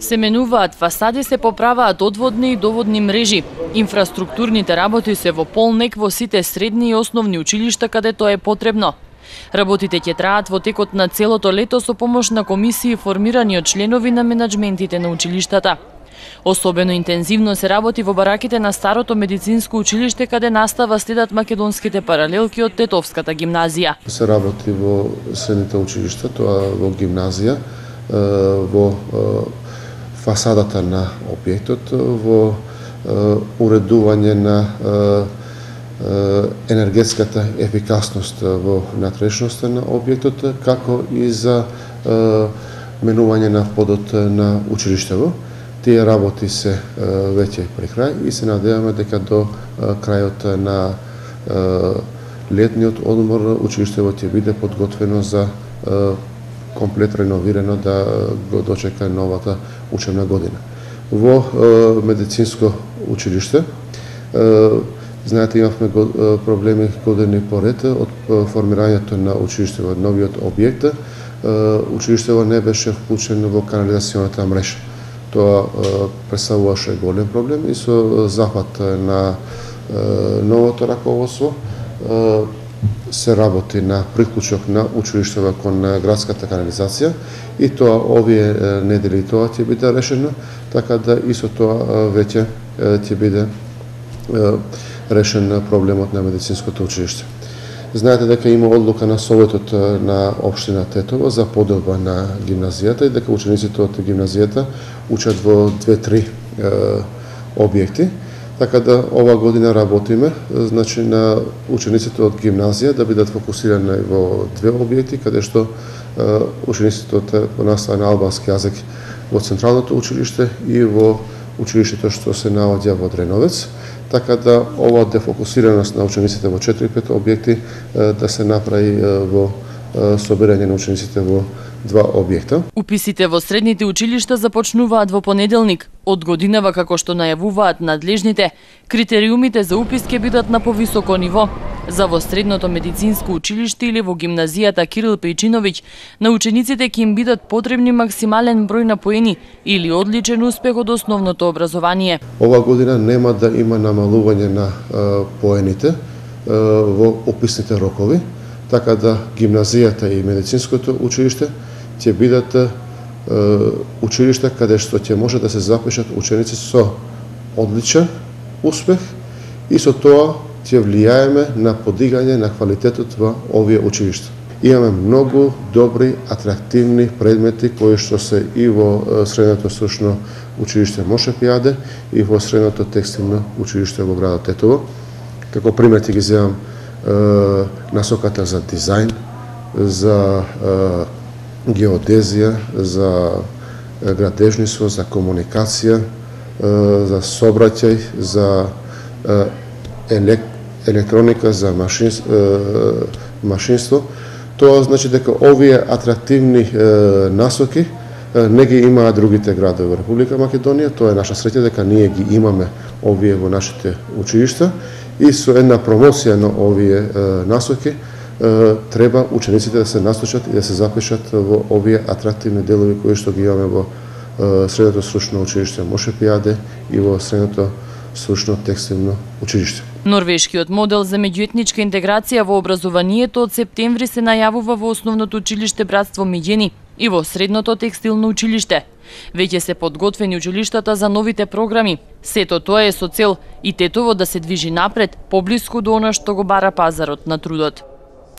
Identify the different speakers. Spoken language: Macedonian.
Speaker 1: Се менуваат фасади, се поправаат одводни и доводни мрежи. Инфраструктурните работи се во полнек во сите средни и основни училишта каде тоа е потребно. Работите ќе траат во текот на целото лето со помош на комисии формирани од членови на менаџментите на училиштата. Особено интензивно се работи во бараките на Старото медицинско училиште каде настава следат македонските паралелки од Тетовската гимназија.
Speaker 2: Се работи во средните училишта, тоа во гимназија, во фасадата на објектот, во уредување на енергетската ефикасност во внатрешноста на објектот, како и за менување на подот на училиштево. Тие работи се веќе при крај и се надеваме дека до крајот на летниот одмор училиштево ќе биде подготвено за комплет реновирано да го дочека новата учебна година. Во медицинско училиште, знаете, имавме проблеми години поред од формирањето на училиштево, од новиот објект. Училиштево не беше вклучено во канализационата мрежа. Тоа представуваше голем проблем и со зафат на новото раководство се работи на приклучок на училиштево кон градската канализација и тоа овие недели тоа ќе биде решено, така да и со тоа веќе ќе биде решен проблемот на медицинското училиште. Знаете дека има одлука на Советот на општина Тетово за поделба на гимназијата и дека учениците од гимназијата учат во 2-3 објекти. Така да ова година работиме, значи на учениците од гимназија да бидат фокусирани во 2 објекти, каде што учениците од настава на албански јазик во централното училиште и во училиштето што се наоѓа во Дреновец, така да ова дефокусираност на учениците во 4-5 објекти да се направи во собирање на учениците во 2 објекта.
Speaker 1: Уписите во средните училишта започнуваат во понеделник. Од годинава, како што најавуваат надлежните, критериумите за упис ќе бидат на повисоко ниво. За во средното медицинско училиште или во гимназијата Кирил Пејчиновиќ, на учениците ќе им бидат потребни максимален број на поени или одличен успех од основното образование.
Speaker 2: Ова година нема да има намалување на поените во уписните рокови, така да гимназијата и медицинското училиште ќе бидат училишта каде што ќе може да се запишат ученици со одличен успех и со тоа ќе влијаеме на подигање на квалитетот во овие училишта. Имаме многу добри, атрактивни предмети кои што се и во средното стручно училиште Мошепијаде и во средното текстилно училиште во градот Тетово. Како пример ќе ги земам насоката за дизајн, за геодезија, за градежниство, за комуникација, за сообраќај, за електроника, за машинство. Тоа значи дека овие атрактивни насоки не ги имаат другите градови во Република Македонија. Тоа е наша среќа дека ние ги имаме овие во нашите училишта и со една промоција на овие насоки треба учениците да се насочат и да се запишат во овие атрактивни делови кои што ги имаме во средното стручно училиште Мошепијаде и во средното стручно текстилно училиште.
Speaker 1: Норвешкиот модел за меѓуетничка интеграција во образованието од септември се најавува во основното училиште Братство Миѓени и во средното текстилно училиште. Веќе се подготвени училиштата за новите програми. Сето тоа е со цел и Тетово да се движи напред, поблиску до она што го бара пазарот на трудот.